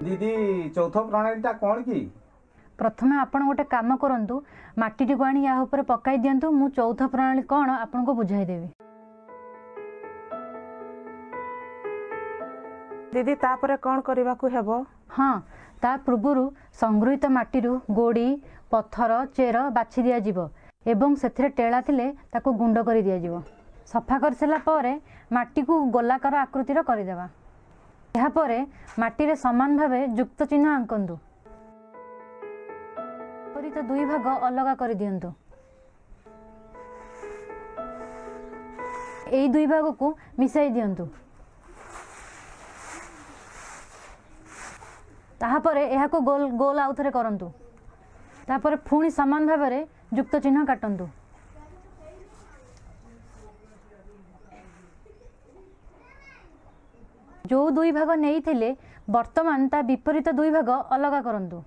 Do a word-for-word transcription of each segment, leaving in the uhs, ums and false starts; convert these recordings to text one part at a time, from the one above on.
ଦିଦି, ଚୌଥ ପ୍ରଣାଳୀଟା କ'ଣ କି? ପ୍ରଥମେ ଆପଣ ଗୋଟେ କାମ କରନ୍ତୁ, ମାଟିଟିକୁ ଆଣି ୟା ଉପରେ ପକାଇ ଦିଅନ୍ତୁ। ମୁଁ ଚୌଥ ପ୍ରଣାଳୀ କ'ଣ ଆପଣଙ୍କୁ ବୁଝାଇଦେବି। ଦିଦି, ତାପରେ କ'ଣ କରିବାକୁ ହେବ? ହଁ, ତା ପୂର୍ବରୁ ସଂଗୃହୀତ ମାଟିରୁ ଗୋଡ଼ି, ପଥର, ଚେର ବାଛି ଦିଆଯିବ ଏବଂ ସେଥିରେ ଟେଳା ଥିଲେ ତାକୁ ଗୁଣ୍ଡ କରି ଦିଆଯିବ। ସଫା କରିସାରିଲା ପରେ ମାଟିକୁ ଗୋଲାକାର ଆକୃତିର କରିଦେବା। ଏହାପରେ ମାଟିରେ ସମାନ ଭାବେ ଯୁକ୍ତ ଚିହ୍ନ ଆଙ୍କନ୍ତୁ। ବିପରୀତ ଦୁଇ ଭାଗ ଅଲଗା କରିଦିଅନ୍ତୁ। ଏଇ ଦୁଇ ଭାଗକୁ ମିଶାଇ ଦିଅନ୍ତୁ। ତାହାପରେ ଏହାକୁ ଗୋଲ ଗୋଲ ଆଉଥରେ କରନ୍ତୁ। ତାପରେ ପୁଣି ସମାନ ଭାବରେ ଯୁକ୍ତ ଚିହ୍ନ କାଟନ୍ତୁ। ଯେଉଁ ଦୁଇ ଭାଗ ନେଇଥିଲେ, ବର୍ତ୍ତମାନ ତା ବିପରୀତ ଦୁଇ ଭାଗ ଅଲଗା କରନ୍ତୁ।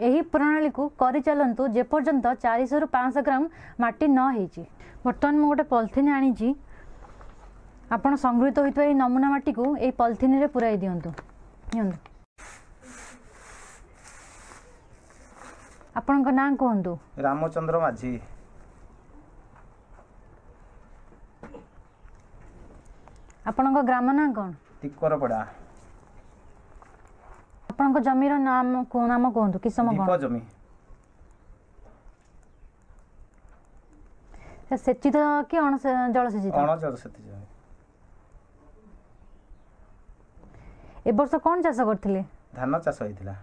ଏହି ପ୍ରଣାଳୀକୁ କରିଚାଲନ୍ତୁ ଯେପର୍ଯ୍ୟନ୍ତ ଚାରିଶହରୁ ପାଞ୍ଚଶହ ଗ୍ରାମ ମାଟି ନ ହେଇଛି। ବର୍ତ୍ତମାନ ମୁଁ ଗୋଟେ ପଲିଥିନ୍ ଆଣିଛି। ଆପଣ ସଂଗୃହୀତ ହୋଇଥିବା ଏହି ନମୁନା ମାଟିକୁ ଏଇ ପଲିଥିନରେ ପୁରାଇ ଦିଅନ୍ତୁ। ନିଅନ୍ତୁ। ଆପଣଙ୍କ ନାଁ କୁହନ୍ତୁ। ରାମଚନ୍ଦ୍ର ମାଝୀ। ଆପଣଙ୍କ ଗ୍ରାମ ନାଁ କ'ଣ? ଟିକରପଡ଼ା। ଆପଣଙ୍କ ଜମିର ନାମ ନାମ କୁହନ୍ତୁ, କିସମ ଢିପ କ'ଣ? ଜମି। ସେଚିତ କି ଅଣ ଜଳସେଚିତ? ଅଣ ଜଳସେଚିତ ଜମି। ଏ ବର୍ଷ କ'ଣ ଚାଷ କରିଥିଲେ? ଧାନ ଚାଷ ହେଇଥିଲା।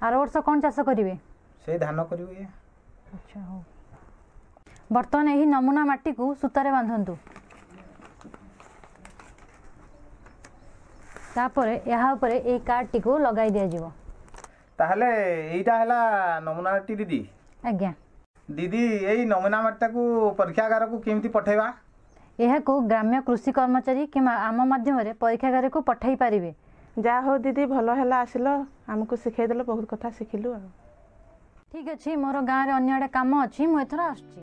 ଆର ବର୍ଷ କ'ଣ ଚାଷ କରିବେ? ସେଇ ଧାନ କରିବୁ ଇଏ। ଆଚ୍ଛା, ହଉ। ବର୍ତ୍ତମାନ ଏହି ନମୁନା ମାଟିକୁ ସୂତାରେ ବାନ୍ଧନ୍ତୁ। ତାପରେ ଏହା ଉପରେ ଏଇ କାର୍ଡ଼ଟିକୁ ଲଗାଇ ଦିଆଯିବ। ତାହେଲେ ଏଇଟା ହେଲା ନମୁନା ମାଟି, ଦିଦି? ଆଜ୍ଞା। ଦିଦି, ଏଇ ନମୁନା ମାଟିଟାକୁ ପରୀକ୍ଷାଗାରକୁ କେମିତି ପଠେଇବା? ଏହାକୁ ଗ୍ରାମ୍ୟ କୃଷି କର୍ମଚାରୀ କିମ୍ବା ଆମ ମାଧ୍ୟମରେ ପରୀକ୍ଷାଗାରକୁ ପଠାଇ ପାରିବେ। ଯାହା ହଉ ଦିଦି, ଭଲ ହେଲା ଆସିଲ, ଆମକୁ ଶିଖେଇଦେଲ, ବହୁତ କଥା ଶିଖିଲୁ। ଆଉ ଠିକ୍ ଅଛି, ମୋର ଗାଁରେ ଅନ୍ୟ ଆଡ଼େ କାମ ଅଛି, ମୁଁ ଏଥର ଆସୁଛି।